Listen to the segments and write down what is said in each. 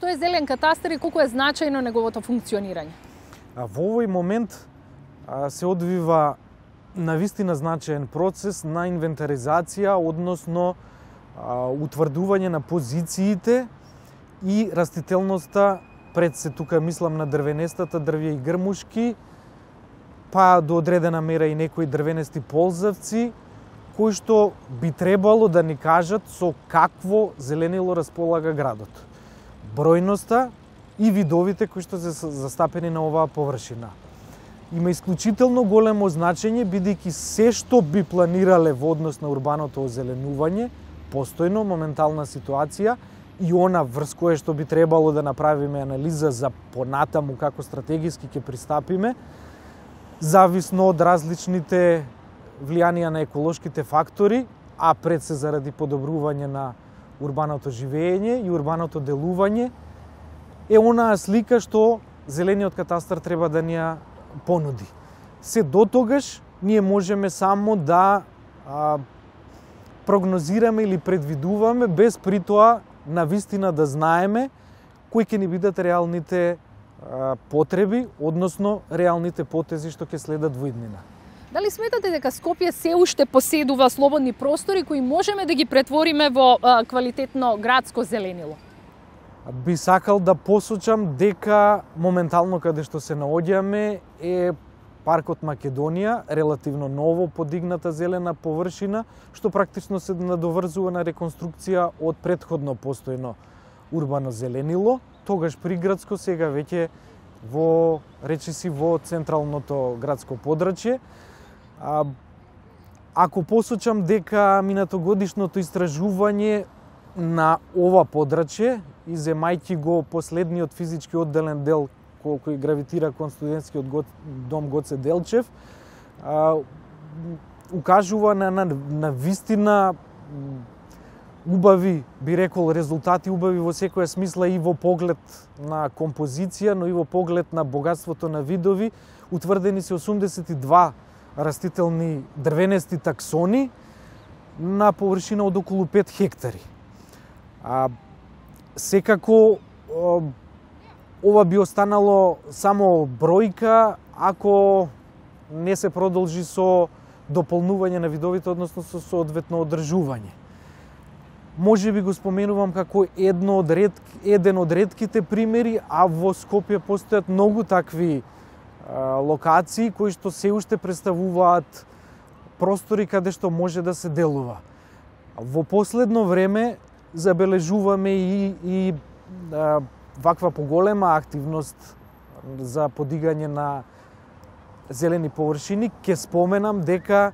Што е зелен катастар и колку е значајно неговото функционирање? Во овој момент се одвива навистина значаен процес на инвентаризација, односно утврдување на позициите и растителноста, пред се тука мислам на дрвенестата, дрвја и грмушки, па до одредена мера и некои дрвенести ползавци, кои што би требало да ни кажат со какво зеленило располага градот. Бројноста и видовите кои што се застапени на оваа површина. Има исклучително големо значење, бидејќи се што би планирале во однос на урбаното озеленување, постојно, моментална ситуација, и она врз кое што би требало да направиме анализа за понатаму како стратегиски ќе пристапиме, зависно од различните влијанија на еколошките фактори, а пред се заради подобрување на урбаното живење и урбаното делување, е онаа слика што зелениот катастар треба да ни ја понуди. Се до тогаш ние можеме само да прогнозираме или предвидуваме, без при тоа навистина да знаеме кои ќе ни бидат реалните потреби, односно реалните потези што ќе следат во иднина. Дали сметате дека Скопје се уште поседува слободни простори кои можеме да ги претвориме во квалитетно градско зеленило? Би сакал да посочам дека моментално каде што се наоѓаме е паркот Македонија, релативно ново подигната зелена површина, што практично се надоврзува на реконструкција од претходно постојно урбано зеленило, тогаш приградско, сега веќе во речиси во централното градско подрачје. Ако посочам дека минатогодишното истражување на ова подрачје и земајќи го последниот физички одделен дел кој гравитира кон студентскиот дом Гоце Делчев, укажува на вистина убави, би рекол, резултати, убави во секоја смисла и во поглед на композиција, но и во поглед на богатството на видови. Утврдени се 82 растителни дрвенести таксони на површина од околу 5 хектари. Секако ова би останало само бројка ако не се продолжи со дополнување на видовите, односно со соодветно одржување. Може би го споменувам како еден од ретките примери, а во Скопје постојат многу такви локации кои што се уште представуваат простори каде што може да се делува. Во последно време забележуваме и ваква поголема активност за подигање на зелени површини. Ке споменам дека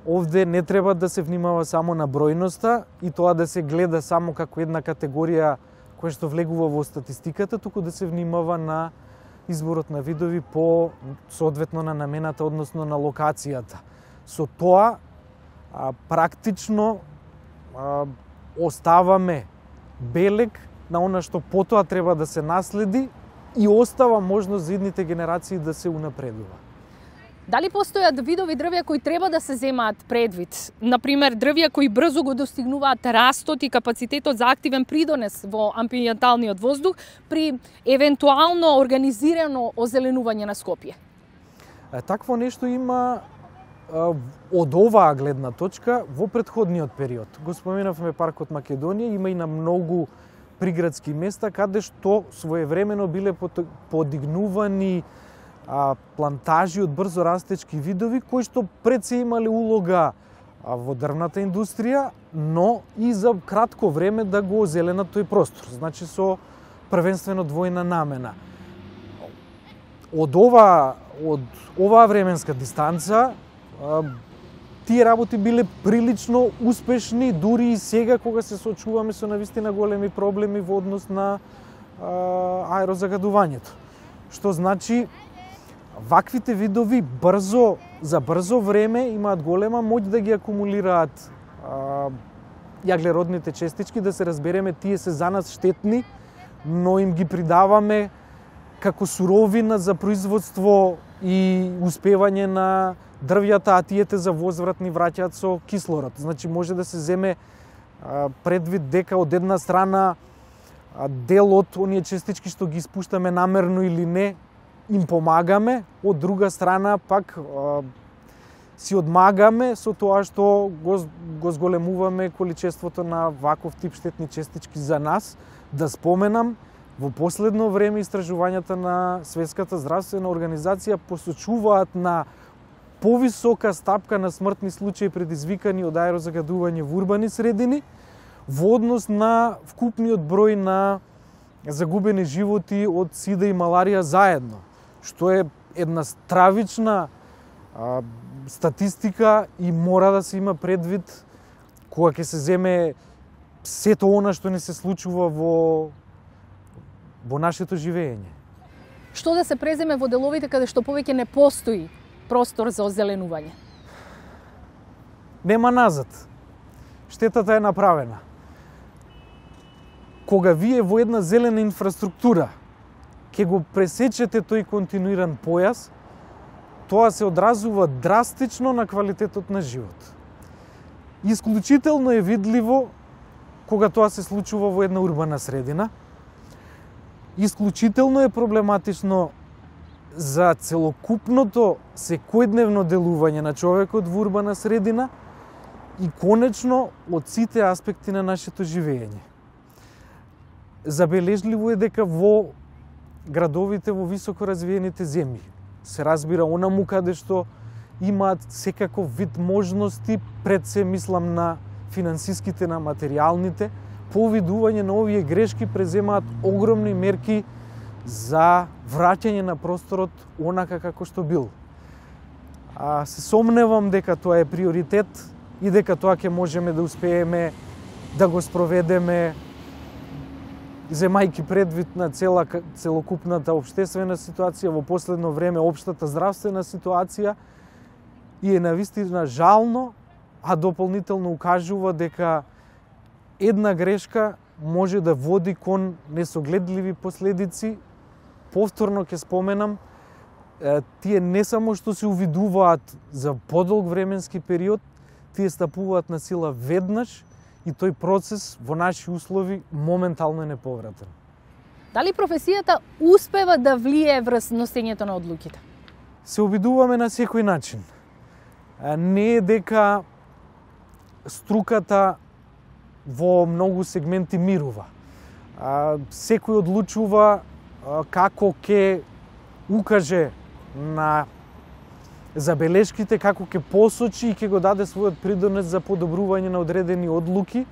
овде не треба да се внимава само на бројноста и тоа да се гледа само како една категорија која што влегува во статистиката, туку да се внимава на изборот на видови по соодветно на намената, односно на локацијата. Со тоа практично оставаме белег на она што потоа треба да се наследи и остава можност за идните генерации да се унапредува. Дали постојат видови дрвја кои треба да се земаат предвид? Например, дрвја кои брзо го достигнуваат растот и капацитетот за активен придонес во амбиенталниот воздух при евентуално организирано озеленување на Скопје? Такво нешто има од оваа гледна точка во претходниот период. Го споменавме паркот Македонија, има и на многу приградски места каде што своевремено биле подигнувани плантажи од брзо растечки видови кои што пред се имале улога во дрвната индустрија, но и за кратко време да го озеленат тој простор, значи со првенствено двојна намена. Од оваа временска дистанца тие работи биле прилично успешни, дури и сега кога се соочуваме со навистина големи проблеми во однос на аерозагадувањето. Што значи ваквите видови за брзо време имаат голема моќ да ги акумулираат јаглеродните честички, да се разбереме, тие се за нас штетни, но им ги придаваме како суровина за производство и успевање на дрвјата, а тиете за возврат ни враќаат со кислород. Значи може да се земе предвид дека од една страна дел од оние частички што ги испуштаме намерно или не, им помагаме, од друга страна пак си одмагаме со тоа што го зголемуваме количеството на ваков тип штетни частички за нас. Да споменам, во последно време истражувањата на Светската здравствена организација посочуваат на повисока стапка на смртни случаи предизвикани од аерозагадување во урбани средини во однос на вкупниот број на загубени животи од сида и маларија заедно, што е една стравична статистика и мора да се има предвид кога ќе се земе сето она што не се случува во нашето живење. Што да се преземе во деловите каде што повеќе не постои простор за озеленување? Нема назад. Штетата е направена. Кога вие во една зелена инфраструктура ќе го пресечете тој континуиран појас, тоа се одразува драстично на квалитетот на живот. Исклучително е видливо кога тоа се случува во една урбана средина. Исклучително е проблематично за целокупното секојдневно делување на човекот во урбана средина и конечно од сите аспекти на нашето живење. Забележливо е дека во градовите во високо развиените земји се разбира онаму каде што имаат секаков вид можности, пред се мислам на финансиските, на материјалните, по видување на овие грешки преземаат огромни мерки за враќање на просторот онака како што бил. Се сомневам дека тоа е приоритет и дека тоа ќе можеме да успееме да го спроведеме земајки предвид на целокупната општествена ситуација, во последно време општата здравствена ситуација, и е навистина жално, а дополнително укажува дека една грешка може да води кон несогледливи последици. Повторно ќе споменам, тие не само што се увидуваат за подолг временски период, тие стапуваат на сила веднаш и тој процес во наши услови моментално е неповратен. Дали професијата успева да влие врз носењето на одлуките? Се обидуваме на секој начин. Не е дека струката во многу сегменти мирува. Секој одлучува како ќе укаже на забелешките, како ќе посочи и ќе го даде својот придонес за подобрување на одредени одлуки.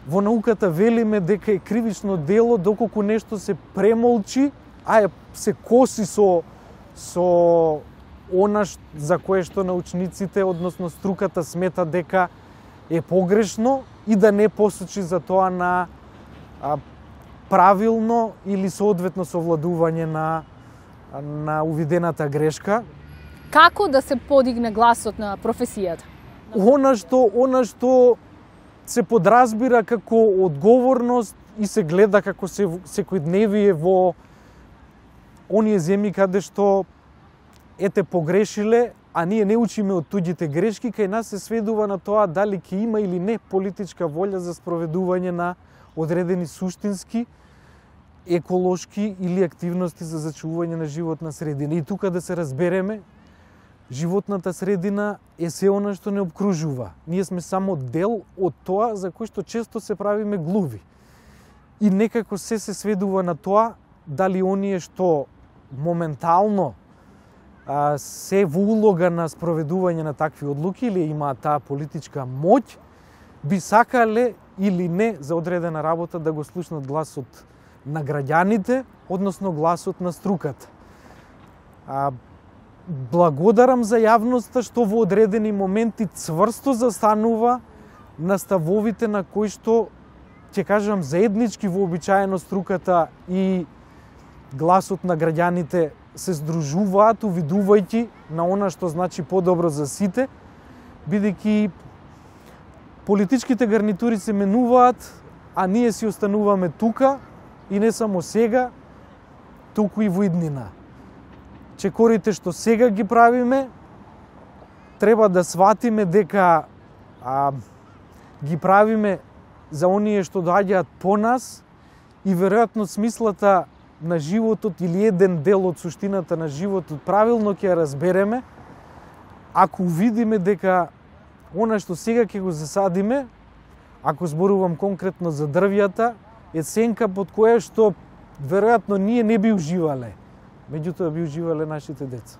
Во науката велиме дека е кривично дело доколку нешто се премолчи, се коси со она за кое што научниците, односно струката, смета дека е погрешно и да не посочи за тоа на правилно или соодветно совладување на увидената грешка. Како да се подигне гласот на професијата? Она што се подразбира како одговорност и се гледа како секојдневие во оние земји каде што погрешиле, а ние не учиме од туѓите грешки, кај нас се сведува на тоа дали ќе има или не политичка волја за спроведување на одредени суштински, еколошки или активности за зачувување на животна средина. И тука да се разбереме, животната средина е се она што не обкружува. Ние сме само дел од тоа за кој што често се правиме глуви. И некако се сведува на тоа дали оние што моментално се во улога на спроведување на такви одлуки или имаат таа политичка моќ, би сакале или не за одредена работа да го слушнат гласот на граѓаните, односно гласот на струката. Благодарам за јавноста што во одредени моменти цврсто застанува на ставовите на кои што, ќе кажам, заеднички вообичаено струката и гласот на граѓаните се здружуваат, увидувајќи на она што значи подобро за сите, бидејќи политичките гарнитури се менуваат, а ние си остануваме тука и не само сега, туку и во иднина. Чекорите што сега ги правиме, треба да сватиме дека ги правиме за оние што доаѓаат по нас и веројатно смислата на животот или еден дел од суштината на животот правилно ќе ја разбереме ако увидиме дека она што сега ќе го засадиме, ако зборувам конкретно за дрвјата, е сенка под која што веројатно ние не би уживале, меѓутоа би уживале нашите деца.